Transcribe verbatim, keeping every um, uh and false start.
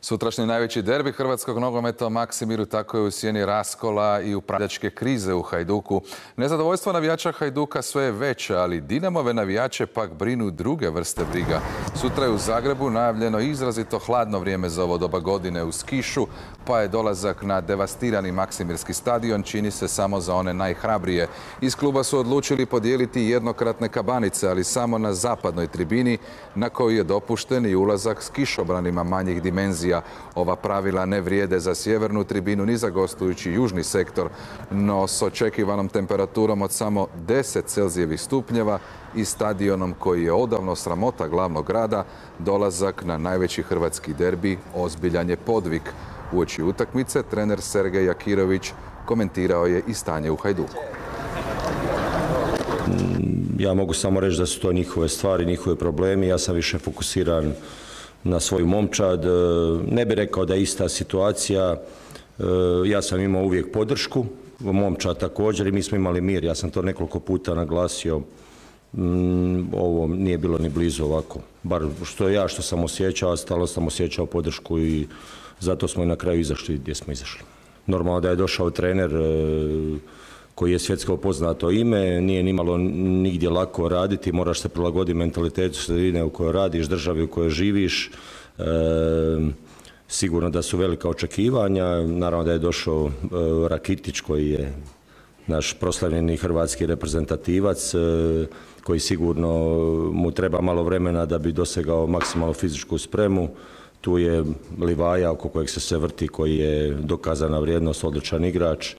Sutrašnji najveći derbi hrvatskog nogometa o Maksimiru tako je u sjeni raskola i upravljačke krize u Hajduku. Nezadovoljstvo navijača Hajduka sve je veće, ali Dinamove navijače pak brinu druge vrste briga. Sutra je u Zagrebu najavljeno izrazito hladno vrijeme za ovo doba godine uz kišu, pa je dolazak na devastirani Maksimirski stadion čini se samo za one najhrabrije. Iz kluba su odlučili podijeliti jednokratne kabanice, ali samo na zapadnoj tribini, na kojoj je dopušten i ulazak s kišobranima manjih dimenzija. Ova pravila ne vrijede za sjevernu tribinu ni za gostujući južni sektor, no s očekivanom temperaturom od samo deset celzijevih stupnjeva i stadionom koji je odavno sramota glavnog grada, dolazak na najveći hrvatski derbi ozbiljan je podvig. Uoči utakmice trener Sergej Jakirović komentirao je i stanje u Hajduku. Ja mogu samo reći da su to njihove stvari, njihove problemi. Ja sam više fokusiran na svoju momčad. Ne bih rekao da je ista situacija. Ja sam imao uvijek podršku, momčad također, i mi smo imali mir. Ja sam to nekoliko puta naglasio. Ovo nije bilo ni blizu ovako. Bar što ja što sam osjećao, stalo sam osjećao podršku i zato smo i na kraju izašli gdje smo izašli. Normalno da je došao trener koji je svjetsko poznato ime, nije nimalo nigdje lako raditi, moraš se prilagoditi mentalitetu sredine u kojoj radiš, državi u kojoj živiš. E, sigurno da su velika očekivanja, naravno da je došao e, Rakitić koji je naš proslavljeni hrvatski reprezentativac, e, koji sigurno mu treba malo vremena da bi dosegao maksimalnu fizičku spremu. Tu je Livaja oko kojeg se sve vrti, koji je dokazana vrijednost, odličan igrač.